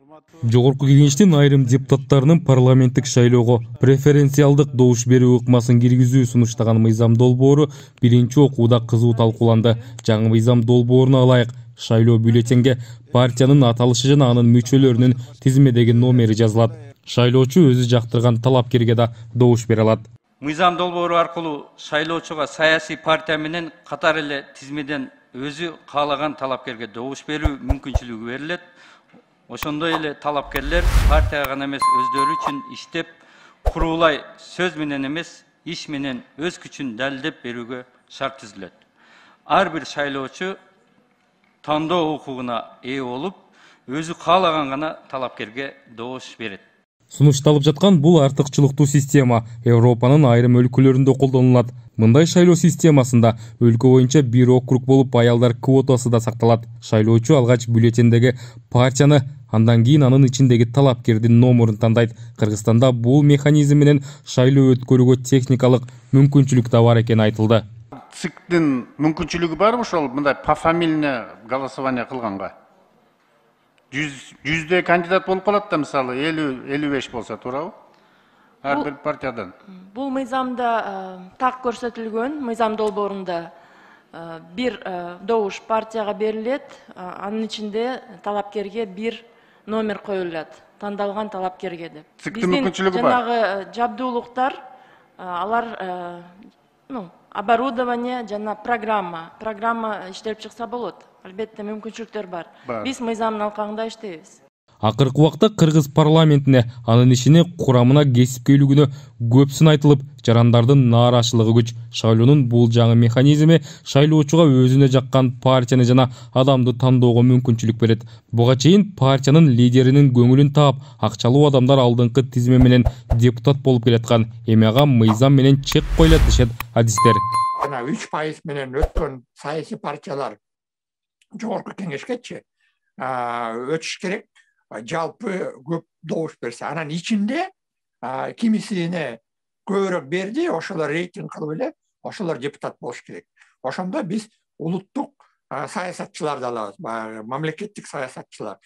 Жогорку Кеңештин айрым депутаттарынын парламенттик шайлоого преференциалдык добуш берүү ыкмасын киргизүү сунуштаган мыйзам долбоору биринчи окууда кызуу талкууланды. Жаңы мыйзам долбооруна ылайык шайлоо бюллетенге партиянын аталышы жана анын мүчөлөрүнүн тизмедеги номери жазылат. Шайлоочу өзү жактырган талапкерге да добуш бере алат. Мыйзам долбоору аркылуу шайлоочуга саясий партия менен катар эле тизмеден өзү каалаган талапкерге добуш берүү мүмкүнчүлүгү берилет. Ошондой эле талапкерлер партияга гана эмес өздөрү үчүн иштеп, курулай сөз менен эмес, иш менен өз күчүн далилдеп берүүгө шарт түзүлөт. Ар бир шайлоочу тандоо укугуна ээ болуп, өзү каалаган гана талапкерге добуш берет. Сунушталып жаткан бул артыкчылыктуу система Европанын айрым өлкөлөрүндө колдонулат. Мындай шайлоо системасында өлкө боюнча бир округ болуп аялдар квотасы да сакталат. Шайлоочу алгач бюллетендеги партияны, андан кийин анын ичиндеги талапкердин номерин тандайт. Кыргызстанда бул механизм менен шайлоо өткөрүүгө техникалык мүмкүнчүлүк да бар экени айтылды. ЦИКтин мүмкүнчүлүгү барбы ошол мындай пофамильный голосование кылганга? 100 кандидат болуп калат да, мисалы 50-55 болсо туурабы? Ар бир партиядан. Бул мыйзамда так көрсөтүлгөн, мыйзам долбоорунда бир добуш партияга берилет, анын ичинде талапкерге бир номер коюлат, тандалган талапкерге деп. ЦИКтин мүмкүнчүлүгү бар. Жанагы жабдуулуктар, алар оборудование жана программа иштелип чыкса болот. Албетте мүмкүнчүлүктөр бар. Биз мыйзамдын алкагында иштейбиз. Акыркы убакта кыргыз парламентине анын ишине курамына кесипкөйлүгүнө көп сын айтылып, жарандардын нааразычылыгы күч. Шайлоонун бул жаңы механизми шайлоочуга өзүнө жаккан партияны жана адамды тандоого мүмкүнчүлүк берет. Буга чейин партиянын лидеринин көңүлүн таап, акчалуу адамдар алдыңкы тизме менен депутат болуп келаткан. Эми ага мыйзам менен чек коюлат дешет адистер. 3% менен өткөн саясий партиялар жогорку кеңешкечи өтүш керек. Жалпы көп добуш берсе, анан ичинде кимисине көбүрөөк берди, ошолор рейтинг кылып эле, ошолор депутат болуш керек. Ошондо биз улуттук саясатчыларды алабыз, мамлекеттик саясатчылар.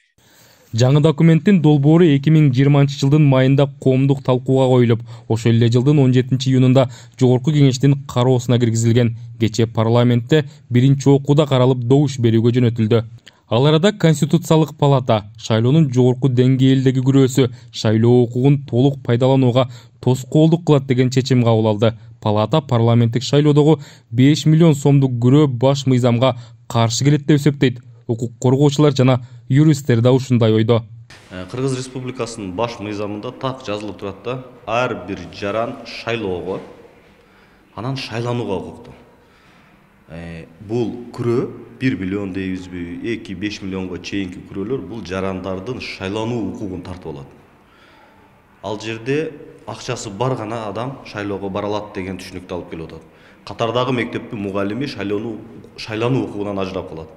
Жаңы документтин долбоору 2020 жылдын майында коомдук талкууга коюлуп, ошол эле жылдын 17 июнунда жогорку кеңештин кароосуна киргизилген. Кечээ парламентте биринчи окууда каралып добуш берүүгө жөнөтүлдү. Ал арада Конституциялык палата шайлоонун жогорку деңгээлдеги күрөөсү шайлоо укугун толук пайдаланууга тоскоолдук кылат деген чечим кабыл алды. Палата парламенттик шайлоодогу 5 миллион сомдук күрөө баш мыйзамга каршы келет деп эсептейт. Укук коргоочулар жана юристтер да ушундай ойдо. Кыргыз Республикасынын баш мыйзамында так жазылып турат да, ар бир жаран шайлоого, анан шайланууга укуктуу. Бул күрөө 1 миллион дейбизби, 2-5 миллионго чейинки күрөөлөр бул жарандардын шайлануу укугун тартып алат. Ал жерде акчасы бар гана адам шайлоого бара алат деген түшүнүктү алып келип атат. Катардагы мектептин мугалими шайлануу укугунан ажырап калат.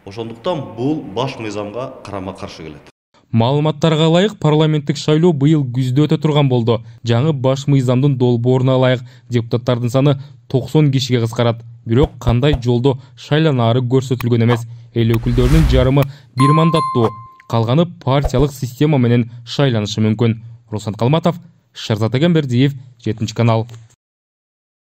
Ошондуктан бул баш мыйзамга карама каршы келет. Маалыматтарга ылайык парламенттик шайлоо быйыл күздө өтө турган болду. Жаңы баш мыйзамдын долбооруна ылайык депутаттардын саны 90 кишиге кыскарат. Бирок кандай жолдо шайланаары көрсөтүлгөн эмес. Эл өкүлдөрүнүн жарымы бир мандаттуу, калганы партиялык система менен шайланышы мүмкүн. Руслан Калматов, Шерзат Эгембердиев, 7 канал.